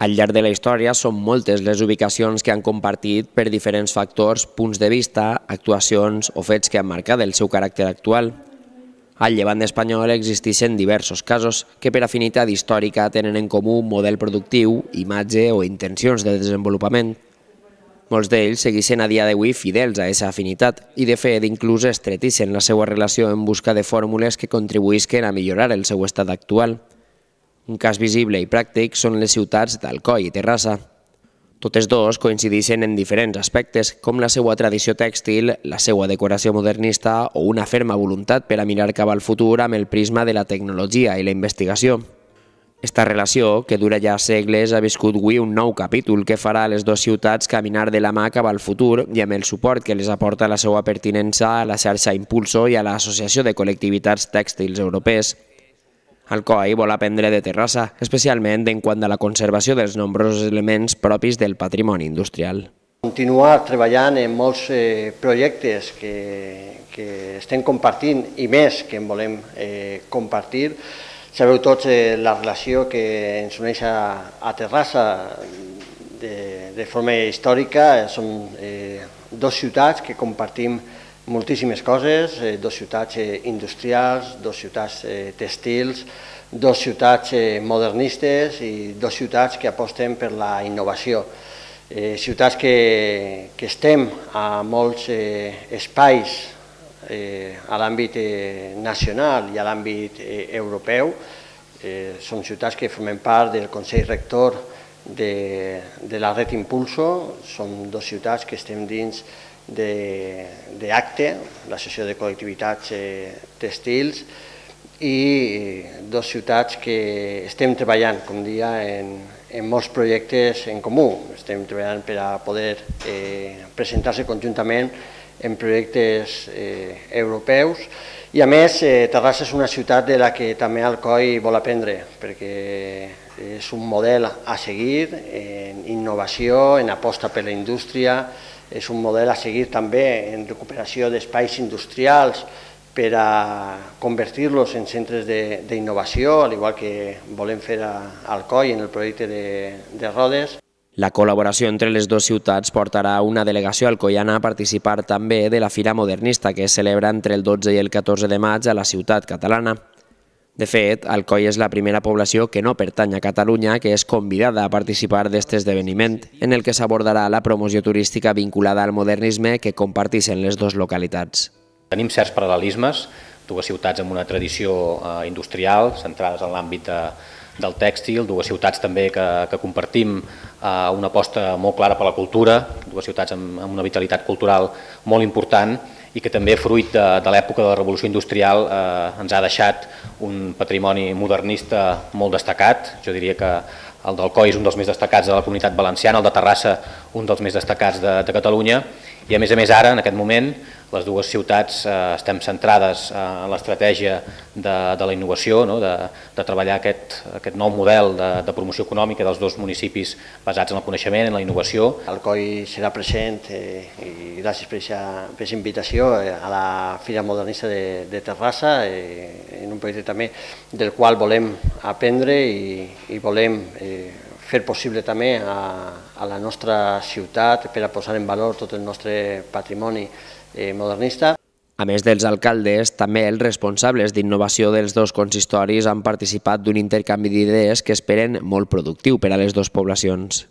Al llarg de la història són moltes les ubicacions que han compartit per diferents factors, punts de vista, actuacions o fets que han marcat el seu caràcter actual. Al llevant espanyol existeixen diversos casos que per afinitat històrica tenen en comú un model productiu, imatge o intencions de desenvolupament. Molts d'ells segueixen a dia d'avui fidels a aquesta afinitat i de fet inclús estreteixen la seva relació en busca de fórmules que contribuïsquen a millorar el seu estat actual. Un cas visible i pràctic són les ciutats d'Alcoi i Terrassa. Totes dos coincideixen en diferents aspectes, com la seva tradició tèxtil, la seva decoració modernista o una ferma voluntat per a mirar cap al futur amb el prisma de la tecnologia i la investigació. Esta relació, que dura ja segles, ha viscut avui un nou capítol que farà a les dues ciutats caminar de la mà cap al futur i amb el suport que les aporta la seva pertinença a la xarxa Impulso i a l'Associació de Col·lectivitats Tèxtils Europees. Alcoi vol aprendre de Terrassa, especialment en quant a la conservació dels nombrosos elements propis del patrimoni industrial. Continuar treballant en molts projectes que estem compartint i més que en volem compartir. Sabeu tots la relació que ens uneix a Terrassa de forma històrica. Són dues ciutats que compartim moltíssimes coses, dues ciutats industrials, dues ciutats tèxtils, dues ciutats modernistes i dues ciutats que aposten per la innovació. Ciutats que estem a molts espais a l'àmbit nacional i a l'àmbit europeu. Són ciutats que formen part del Consell Rector de la Red Impulso. Són dues ciutats que estem dins d'ACTE, l'Associació de Col·lectivitats Tèxtils, i dues ciutats que estem treballant, com dia, en molts projectes en comú. Estem treballant per a poder presentar-se conjuntament en projectes europeus i a més Terrassa és una ciutat de la que també Alcoi vol aprendre perquè és un model a seguir en innovació, en aposta per la indústria, és un model a seguir també en recuperació d'espais industrials per a convertir-los en centres d'innovació, al igual que volem fer a Alcoi en el projecte de Rodes. La col·laboració entre les dues ciutats portarà una delegació alcoiana a participar també de la Fira Modernista que es celebra entre el 12 i el 14 de maig a la ciutat catalana. De fet, Alcoi és la primera població que no pertany a Catalunya que és convidada a participar d'aquest esdeveniment, en el que s'abordarà la promoció turística vinculada al modernisme que comparteixen les dues localitats. Tenim certs paral·lelismes, dues ciutats amb una tradició industrial centrades en l'àmbit del tèxtil, dues ciutats també que compartim una aposta molt clara per la cultura, dues ciutats amb una vitalitat cultural molt important i que també, fruit de l'època de la revolució industrial, ens ha deixat un patrimoni modernista molt destacat. Jo diria que el d'Alcoi és un dels més destacats de la Comunitat Valenciana, el de Terrassa un dels més destacats de Catalunya, i a més ara, en aquest moment, les dues ciutats estem centrades en l'estratègia de la innovació, de treballar aquest nou model de promoció econòmica dels dos municipis basats en el coneixement, en la innovació. Alcoi serà present, i gràcies per aquesta invitació, a la Fira Modernista de Terrassa, en un projecte també del qual volem aprendre i volem fer possible també a la nostra ciutat per a posar en valor tot el nostre patrimoni modernista. A més dels alcaldes, també els responsables d'innovació dels dos consistoris han participat d'un intercanvi d'idees que esperen molt productiu per a les dues poblacions.